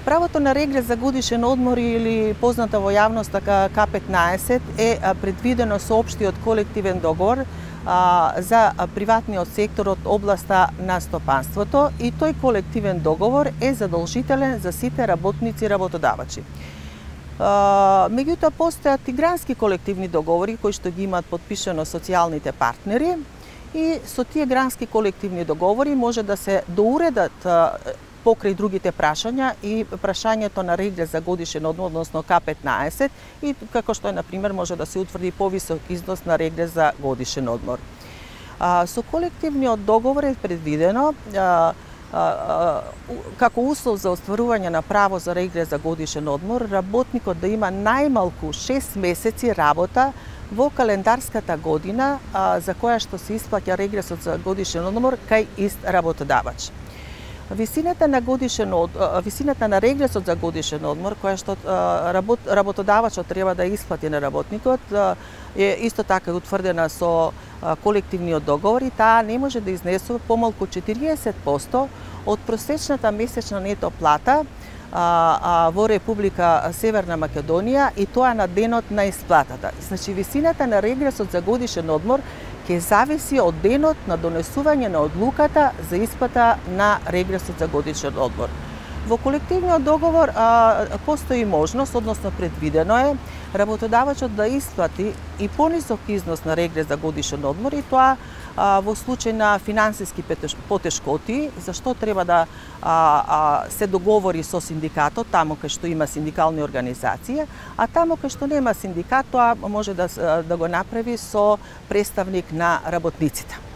Правото на регрес за годишен одмор или позната во јавност така К15 е предвидено со општиот колективен договор за приватниот сектор од областа на стопанството и тој колективен договор е задолжителен за сите работници и работодавачи. Меѓутоа постојат и грански колективни договори кои што ги имаат подпишано социјалните партнери и со тие грански колективни договори може да се доуредат покрај другите прашања и прашањето на регрес за годишен одмор, односно К15 и како што на пример може да се утврди повисок износ на регрес за годишен одмор. Со колективниот договор е предвидено како услов за остварување на право за регрес за годишен одмор, работникот да има најмалку 6 месеци работа во календарската година за која што се исплаќа регресот за годишен одмор кај ист работодавач. Висината на регресот за годишен одмор која што работодавачот треба да исплати на работникот е исто така утврдена со колективниот договор и таа не може да изнесува помалку 40% од просечната месечна нето плата во Република Северна Македонија и тоа на денот на исплатата. Значи висината на регресот за годишен одмор ќе зависи од денот на донесување на одлуката за исплата на регресот за годишен одмор. Во колективниот договор постои можност, односно предвидено е, работодавачот да исплати и понисок износ на регрес за годишен одмор и тоа во случај на финансиски потешкоти, зашто треба да се договори со синдикатот, таму кај што има синдикални организации, а таму кај што нема синдикат, тоа може да го направи со представник на работниците.